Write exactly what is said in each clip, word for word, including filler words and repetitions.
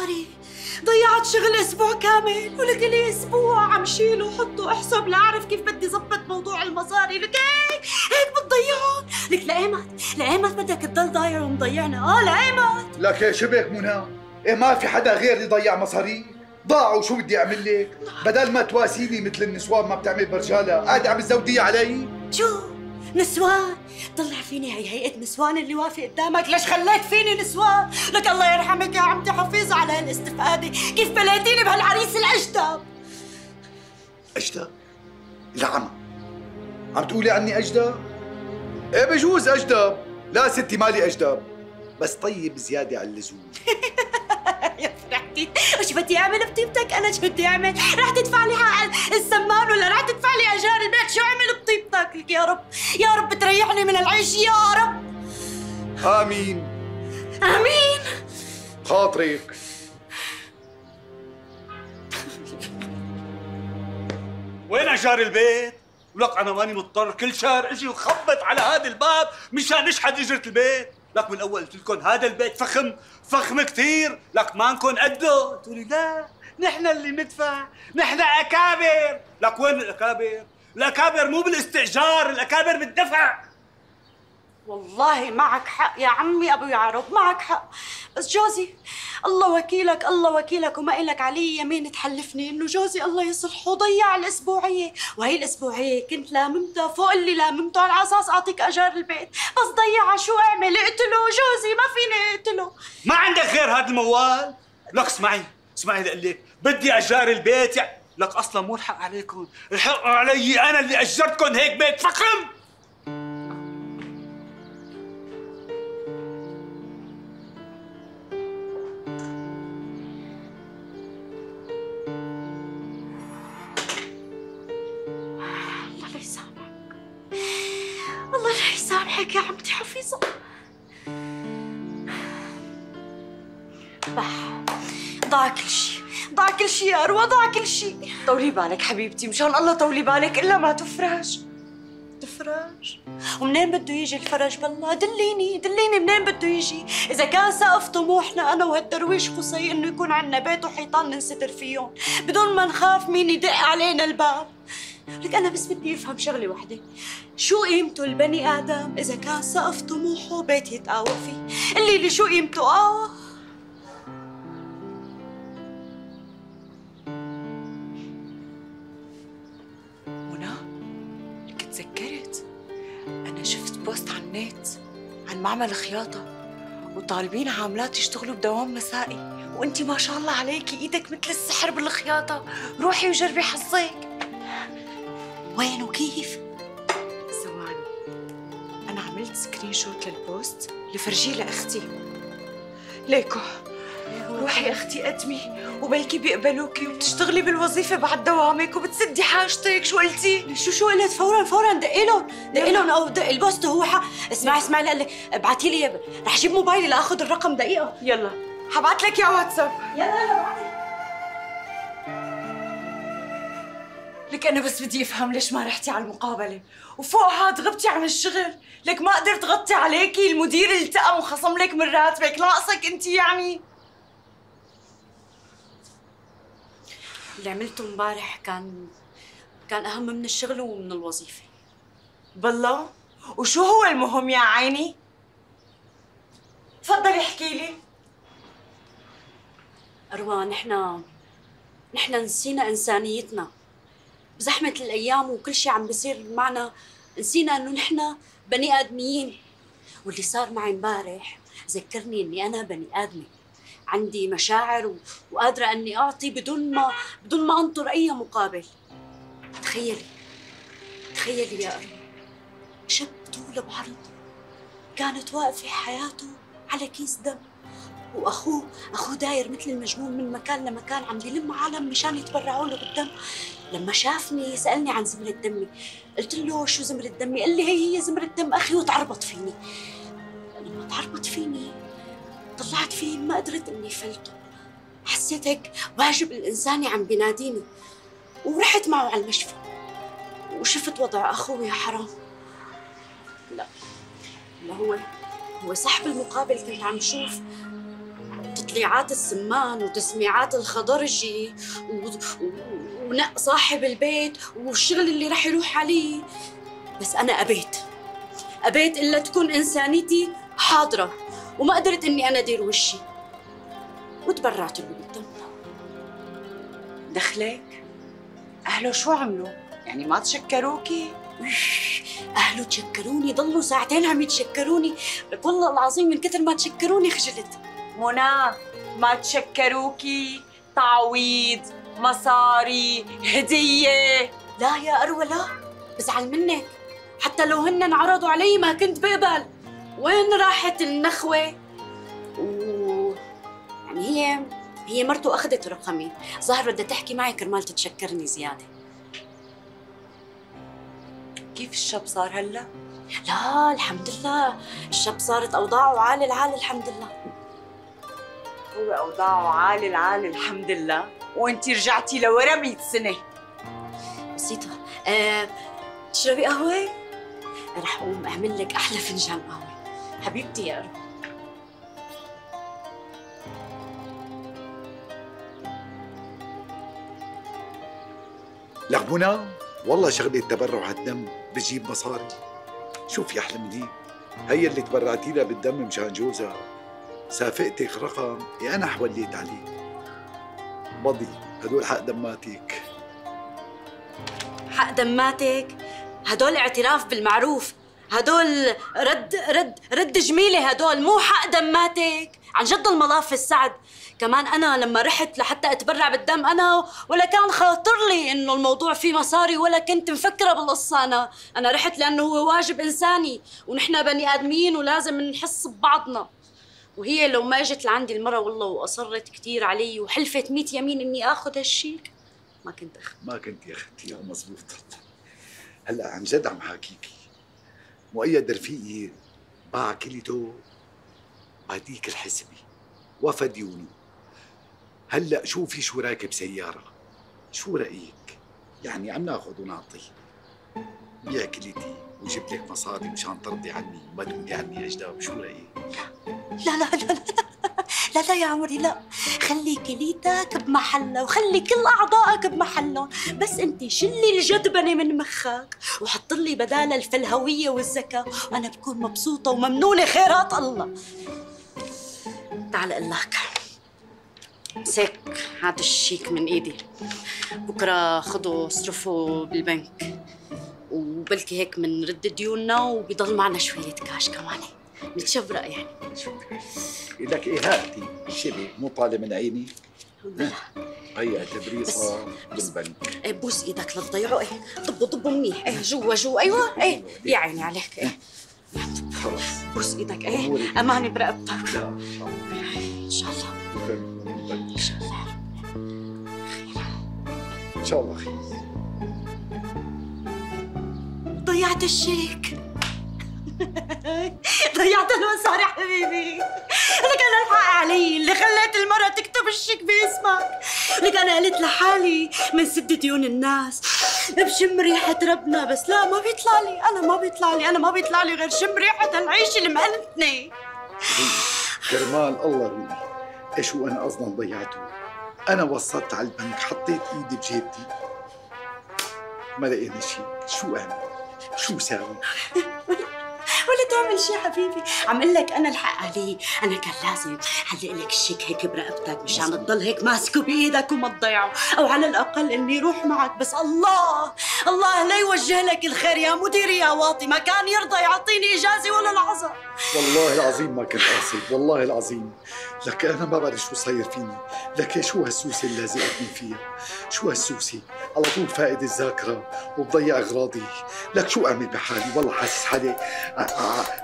مصاري، ضيعت شغل اسبوع كامل، ولك لي اسبوع عم شيل وحط واحسب لاعرف كيف بدي زبط موضوع المصاري، لك هيك هيك بتضيعهم، لك لايمت لايمت بدك تضل ضايع ومضيعنا، اه لايمت. لك يا شبك منى، ايه ما في حدا غيري ضيع مصاري؟ ضاعوا شو بدي اعمل لك؟ بدل ما تواسيني مثل النسوان ما بتعمل برجالة، قاعدة عم تزوديها علي؟ شو؟ نسوان؟ طلع فيني هي هيئة نسوان اللي واقفة قدامك، ليش خليت فيني نسوان؟ لك الله يرحمك يا عمتي حفيظة على هالاستفادة، كيف بليتيني بهالعريس الأجدب؟ أجدب؟ لا عم عم تقولي عني أجدب؟ ايه بجوز أجدب، لا ستي مالي أجدب، بس طيب زيادة على اللزوم. يا فرحتي، وش بدي اعمل بطيبتك؟ انا شو بدي اعمل؟ رح تدفع لي حق السمان ولا رح تدفع لي اجار البيت؟ شو اعمل بطيبتك؟ لك يا رب يا رب تريحني من العيش يا رب. آمين امين. خاطرك. وين اجار البيت؟ ولك انا ماني مضطر كل شهر اجي وخبط على هذا الباب مشان نشحد اجرة البيت. لك من اول قلت لكم هذا البيت فخم فخم كثير، لك ما نكون قده، تقولي لا نحن اللي ندفع، نحن اكابر. لك وين الاكابر؟ الاكابر مو بالاستئجار، الاكابر بالدفع. والله معك حق يا عمي ابو يعرب، معك حق، بس جوزي الله وكيلك الله وكيلك وما إلك علي يمين تحلفني انه جوزي الله يصلحه ضيع الاسبوعيه، وهي الاسبوعيه كنت لاممتها فوق اللي لاممته على اساس اعطيك اجار البيت، بس ضيعها شو اعمل؟ اقتله جوزي، ما فيني اقتله. ما عندك غير هذا الموال؟ لك اسمعي اسمعي لقول لك بدي اجار البيت يعني. لك اصلا مو الحق عليكم، الحق علي انا اللي اجرتكم هيك بيت فخم. الله لا يسامحك يا عمتي حفيظة. بح ضاع كل شيء، ضاع كل شيء يا أروى، ضاع كل شيء. طولي بالك حبيبتي مشان الله، طولي بالك إلا ما تفرج. تفرج؟ ومنين بده يجي الفرج بالله؟ دليني دليني منين بده يجي؟ إذا كان سقف طموحنا أنا وهالدرويش قصي إنه يكون عنا بيت وحيطان ننستر فيهم بدون ما نخاف مين يدق علينا الباب. لك أنا بس بدي أفهم شغلة وحدة، شو قيمته البني آدم إذا كان سقف طموحه بيت يتقاوى فيه؟ قلي لي شو قيمته؟ آه منى، لك تذكرت أنا شفت بوست على النت عن معمل خياطة وطالبين عاملات يشتغلوا بدوام مسائي، وأنتِ ما شاء الله عليكي إيدك مثل السحر بالخياطة، روحي وجربي حظك. وين وكيف؟ ثواني، أنا عملت سكرين شوت للبوست لفرجيه لأختي. ليكو روحي أختي قدمي وبلكي بيقبلوكي وبتشتغلي بالوظيفة بعد دوامك وبتسدي حاجتك. شو قلتي؟ شو شو قلت؟ فورا فورا دقي لهم دقي لهم او دقي البوست هو حق. اسمعي اسمعي لك ابعتي لي، رح اجيب موبايلي لاخذ الرقم دقيقة. يلا حبعت لك يا واتساب. يلا يلا ابعتي. لك أنا بس بدي أفهم ليش ما رحتي على المقابلة وفوق هاد غبتي عن الشغل؟ لك ما قدرت غطي عليكي، المدير التئم وخصم لك من راتبك، ناقصك أنت يعني؟ اللي عملته امبارح كان كان أهم من الشغل ومن الوظيفة. بالله؟ وشو هو المهم يا عيني؟ تفضلي احكي لي. أروى نحن نحن نسينا إنسانيتنا بزحمة الأيام وكل شيء عم بيصير معنا، نسينا إنه نحن بني آدميين، واللي صار معي امبارح ذكرني إني أنا بني آدمة عندي مشاعر و... وقادرة إني أعطي بدون ما بدون ما أنطر أي مقابل. تخيلي تخيلي يا أروى، شاب طول بعرض كانت واقفة حياته على كيس دم، واخوه اخوه داير مثل المجنون من مكان لمكان عم بيلم عالم مشان يتبرعوا له بالدم. لما شافني سالني عن زمرة دمي، قلت له شو زمرة دمي؟ قال لي هي هي زمرة دم اخي، وتعربط فيني. لما تعربط فيني طلعت فيه ما قدرت اني فلته، حسيت هيك واجب الانساني عم بيناديني، ورحت معه على المشفى وشفت وضع اخوه. يا حرام، لا لا هو هو صاحب المقابل كنت عم شوف وتطليعات السمان وتسميعات الخضرجي و... و... ونق صاحب البيت والشغل اللي رح يروح عليه. بس أنا أبيت أبيت إلا تكون إنسانيتي حاضرة، وما قدرت إني أنا أدير وشي وتبرعت له بالدم. دخلك؟ أهله شو عملوا؟ يعني ما تشكروكي؟ أهله تشكروني، ضلوا ساعتين عم يتشكروني، لك والله العظيم من كثر ما تشكروني خجلت. منى ما تشكروكي؟ تعويض، مصاري، هدية؟ لا يا أروى لا، بزعل منك، حتى لو هن انعرضوا علي ما كنت بقبل. وين راحت النخوة؟ و يعني هي هي مرته أخذت رقمي، ظهر بدها تحكي معي كرمال تتشكرني زيادة. كيف الشاب صار هلا؟ لا الحمد لله، الشاب صارت أوضاعه عالي العال الحمد لله. هو أوضاعه عالي العال الحمد لله، وأنتِ رجعتي لورا مئة سنة. بسيطة. أه، تشربي قهوة؟ رح أقوم أعمل لك أحلى فنجان قهوة حبيبتي يا أروى. لك منى، والله شغلة تبرع الدم بتجيب مصاري. شوفي أحلى من هيك، هي اللي تبرعتي لها بالدم مشان جوزها سافقتك رقم يا أنا حوليت عليه. بضي هدول حق دماتك. حق دماتك؟ هدول اعتراف بالمعروف، هدول رد رد رد جميلة، هدول مو حق دماتك. عن جد الملاف السعد. كمان أنا لما رحت لحتى أتبرع بالدم أنا ولا كان خاطر لي إنه الموضوع فيه مصاري، ولا كنت مفكرة بالقصة. أنا أنا رحت لأنه هو واجب إنساني، ونحن بني آدمين ولازم نحس ببعضنا. وهي لو ما اجت لعندي المرة والله وأصرت كتير علي وحلفت ميت يمين إني آخذ هالشيك ما كنت أخذ. ما كنت أخذتيها مزبوط. هلا عن جد عم حاكيكي، مؤيد رفيقي باع كليته بعديك الحسبة وفى ديونه. هلا شوفي شو راكب سيارة، شو رأيك؟ يعني عم ناخذ ونعطي. بيع كليتي وجيب لك مصاري مشان ترضي عني وما تقولي عني أجداب. شو رأيك؟ لا لا لا لا لا لا يا عمري لا، خلي كليتك بمحلها وخلي كل أعضائك بمحلهم، بس أنت شلي الجدبنة من مخك وحط لي بدالها الفلهوية والذكاء، وأنا بكون مبسوطة وممنونة خيرات الله. تعال أقول لك، مسك هذا الشيك من إيدي، بكرة خده اصرفه بالبنك، وبلكي هيك منرد ديوننا وبيضل معنا شوية كاش كمان نتشبرق يعني. لك إيه هاتي شبه مو طالع من عيني. هي تبريصة بالبنك. ايه بوس ايدك لا تضيعه. ايه ضبوا ضبوا منيح. ايه جوا جوا. ايوه ايه يا عيني عليك. ايه خلص بوس ايدك. ايه اماني برقبتك. لا ان شاء الله ان شاء الله ان شاء الله ان شاء الله خير. ضيعت الشيك. ضيعت المصاري حبيبي. لك انا الحق علي اللي خليت المرة تكتب الشيك باسمك. لك انا قلت لحالي من سد ديون الناس بشم ريحة ربنا، بس لا ما بيطلع لي. انا ما بيطلع لي انا ما بيطلع لي غير شم ريحة هالعيش اللي مهنتني. كرمال الله روحي، ايش هو انا اصلا ضيعته؟ انا وصلت على البنك، حطيت ايدي بجيبتي ما لقينا شيء. شو اعمل؟ شو ساوي؟ ولا تعمل شيء حبيبي، عم اقول لك انا الحق علي. انا كان لازم علق لك الشيك هيك برقبتك مشان تضل هيك ماسكه بايدك وما تضيعه، او على الاقل اني يروح معك. بس الله الله لا يوجه لك الخير يا مديري يا واطي، ما كان يرضى يعطيني اجازه ولا لحظه. والله العظيم ما كنت قاصد، والله العظيم. لك انا ما بعرف شو صاير فيني. لك شو هالسوسه اللي لازقتني فيها؟ شو هالسوسه؟ على طول فائد الذاكره وبضيع اغراضي. لك شو اعمل بحالي؟ والله حاسس حالي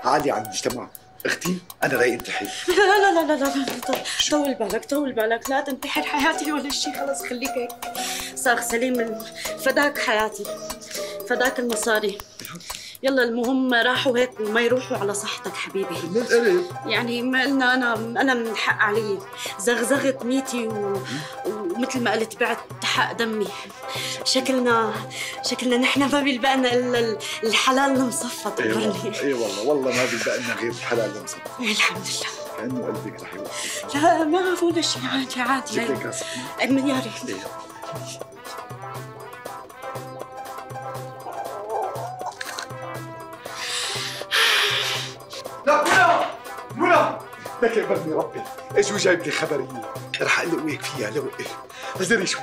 عالي عن المجتمع. اختي انا رايق انتحر. لا لا لا لا لا لا طول بالك طول بالك، لا تنتحر حياتي ولا شيء. خلص خليك هيك صار سليم. فداك حياتي، فداك المصاري. يلا المهم راحوا هيك وما يروحوا على صحتك حبيبي. من القرب يعني ما قلنا انا انا من الحق علي زغزغت ميتي و... ومثل ما قلت بعت حق دمي. شكلنا شكلنا نحن ما بيلبقنا الا الحلال المصفى. اي والله اي والله والله ما بيلبقنا غير الحلال المصفى. الحمد لله. كأنه قلبك رح يوقف. لا ما ولا شيء، عادي عادي. جيب لي كاسة من يا ريت. إيه. لا منى منى لك يقبلني ربي، اجوا جايب لي خبريه رح اقلقك فيها. لو ادري شو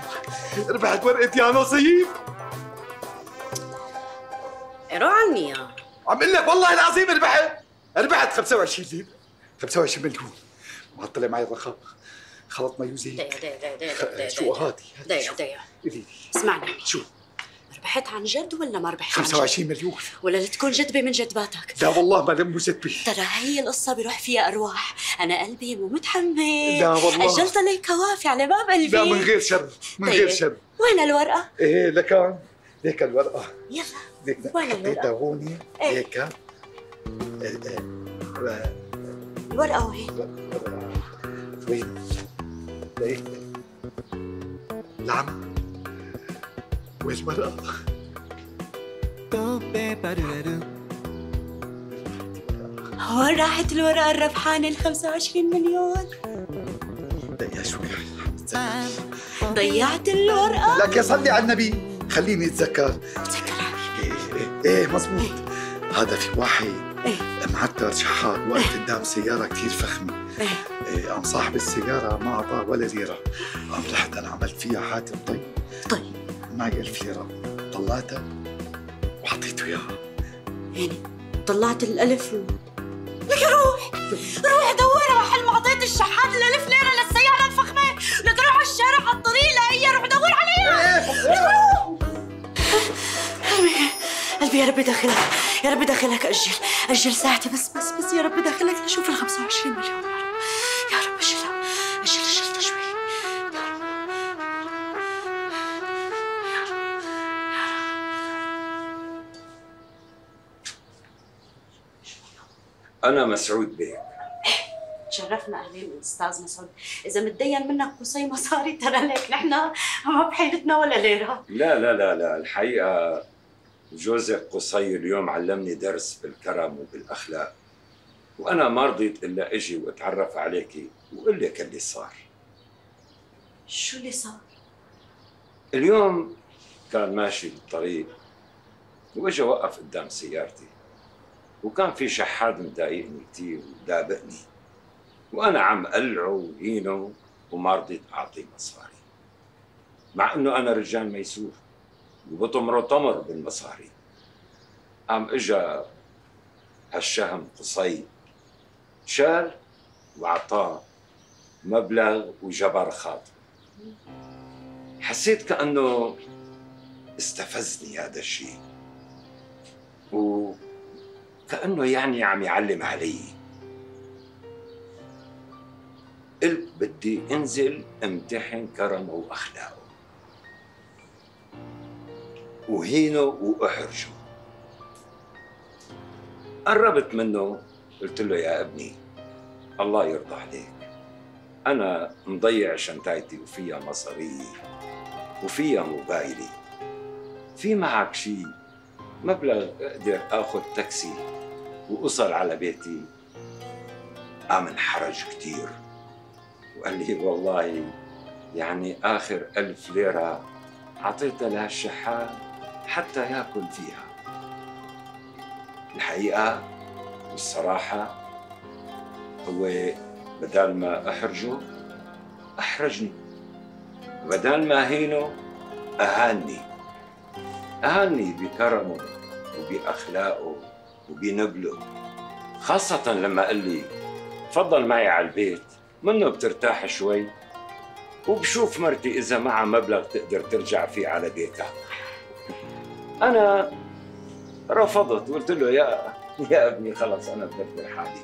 ربحت ورقه يا نصيب. روح عني يا عم اقول لك والله العظيم ربحت ربحت خمسة وعشرين ليره، خمسة وعشرين مليون. ما طلع معي الرقم، خلط ما يوزيك. دقيقة دقيقة دقيقة دقيقة شو هادي؟ دقيقة دقيقة قولي لي اسمعني، شو؟ ربحت عن جد ولا ما ربحت عن جد؟ خمسة وعشرين مليون. ولا لتكون جدبة من جدباتك؟ لا والله ما لم جدبة. ترى هي القصة بيروح فيها أرواح، أنا قلبي مو متحمل. لا والله أجلت لي كوافي على باب قلبي. لا من غير شر، من غير شر. وين الورقة؟ ايه لكان ليك الورقة. يلا ليك وين الورقة؟ حطيتها هون هيك. الورقة وين؟ وين؟ ليك العم والورقة. وين راحت الورقة الربحانة ال خمسة وعشرين مليون؟ دقيقة شوي ضيعت الورقة؟ لك يا صلي على النبي خليني اتذكر. تذكرها؟ ايه ايه, إيه مزبوط. هذا في واحد ايه معتر شحات وقت قدام سيارة كتير فخمة. ايه إيه قام صاحب السيارة ما أعطاه ولا ليرة. قام رحت أنا عملت فيها حاتم طيب. طيب معي ألف ليرة طلعتها وحطيته إياها. يعني طلعت الألف و... لك روح روح دورها محل ما أعطيت الشحات الألف ليرة للسيارة الفخمة. لك روح على الشارع على الطريق لاقيها، روح دور عليها. قلبي يا ربي دخلك، يا ربي دخلك. أجل أجل ساعتي بس بس بس يا ربي دخلك لشوف ال خمسة وعشرين مليون. يا رب يا رب أجلها أجل أجلها شوي. يا رب يا رب يا رب. أنا مسعود بيك. تشرفنا أهلين أستاذ مسعود. إذا متدين منك قصي مصاري ترى لك نحن ما بحيلتنا ولا ليرة. لا لا لا لا الحقيقة جوزك قصي اليوم علمني درس بالكرم وبالأخلاق، وأنا ما رضيت إلا أجي وأتعرف عليكي وأقول لك اللي صار. شو اللي صار؟ اليوم كان ماشي بالطريق وإجا وقف قدام سيارتي، وكان في شحاد مضايقني كتير ودابقني، وأنا عم قلعه وهينه وما رضيت أعطيه مصاري، مع إنه أنا رجال ميسور وبطمره طمر بالمصاري. قام إجا هالشهم قصي شال وعطاه مبلغ وجبر خاطر. حسيت كأنه استفزني هذا الشيء، وكأنه يعني عم يعلم علي. قلت بدي انزل امتحن كرمه واخلاقه وهينه واحرجه. قربت منه قلت له يا ابني الله يرضى عليك، انا مضيع شنطايتي وفيها مصاري وفيها موبايلي، في معك شيء مبلغ اقدر اخذ تاكسي واوصل على بيتي؟ قام انحرج كتير وقال لي والله يعني آخر ألف ليرة عطيتها لهالشحات حتى ياكل فيها. الحقيقة والصراحة هو بدال ما أحرجه أحرجني، بدال ما أهينه أهاني، أهاني بكرمه وبأخلاقه وبنبله، خاصة لما قال لي تفضل معي على البيت منه بترتاح شوي وبشوف مرتي إذا معها مبلغ تقدر ترجع فيه على بيتها. أنا رفضت وقلت له يا يا ابني خلص أنا بدبر حالي،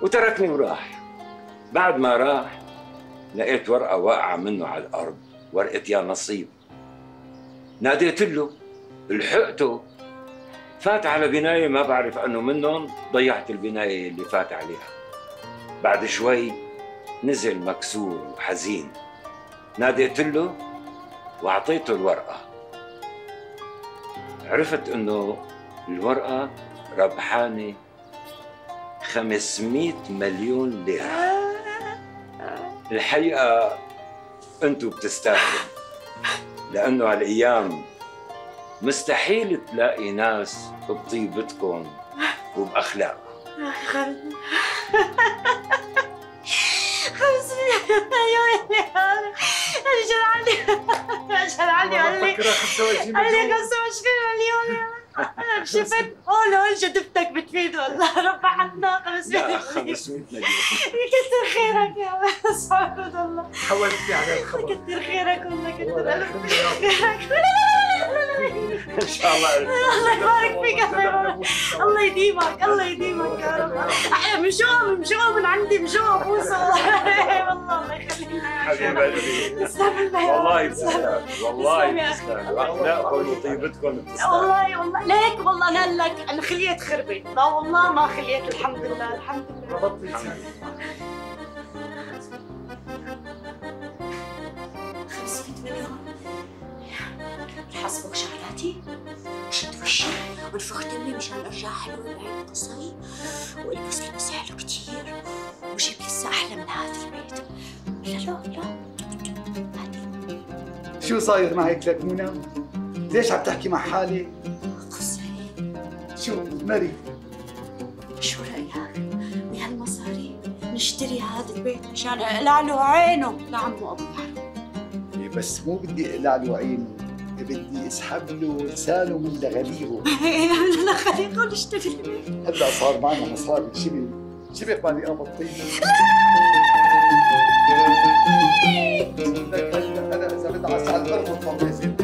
وتركني وراح. بعد ما راح لقيت ورقة واقعة منه على الأرض، ورقة يا نصيب. ناديت له لحقته، فات على بناية ما بعرف أنه منهم، ضيعت البناية اللي فات عليها. بعد شوي نزل مكسور وحزين، ناديت له وأعطيته الورقة. عرفت إنه الورقة ربحانة خمسمية مليون ليرة. الحقيقة انتوا بتستاهلوا، لأنه هالأيام مستحيل تلاقي ناس بطيبتكم وبأخلاقكم. خمسمية مليون ليرة. اجل علي اجل علي قال لي خمسة وعشرين قال لي مليون. خمسة وعشرين مليون ليرة. انا شفت قول قول جدفتك بتفيد والله ربحتنا خمسمية لا مليون. خمسمية مليون. كتر خيرك يا بس سبحان الله. حولتني على الخبر. كتر خيرك والله كتر ألف خيرك. ان شاء الله. الله يبارك فيك الله يبارك. الله يديمك الله يديمك يا رب. احلى من شوق من شوق من عندي من شوق بوسه والله الله يخلينا حبيب قلبي تسلم والله بتستاهل، والله تسلم يا أخي. بتستاهل، واخلاقكم وطيبتكم بتستاهل. والله والله ليك والله انا لك انا خليت خربت. لا والله ما خليت الحمد لله الحمد لله. ربطني خمسمية مليون حسبك شغلاتي وشد وشي ونفخ دمي مشان ارجع حلوه بعين قصي والبس لبس حلو كتير وجيب لسه احلى من هذا البيت. لا لا لا شو صاير معك لك منى؟ ليش عم تحكي مع حالي؟ قصي شو مري؟ شو رايك بهالمصاري نشتري هذا البيت مشان اقلع له عينه لعمو ابو يحيى. إيه بس مو بدي اقلع له عينه، بدي اسحب له لسانه من لغليغه. لا خليكم نشتري البيت. هلا صار معنا مصاري شبه شبه مالي قبضتين. انا اذا بدي على الارض ما بيصير.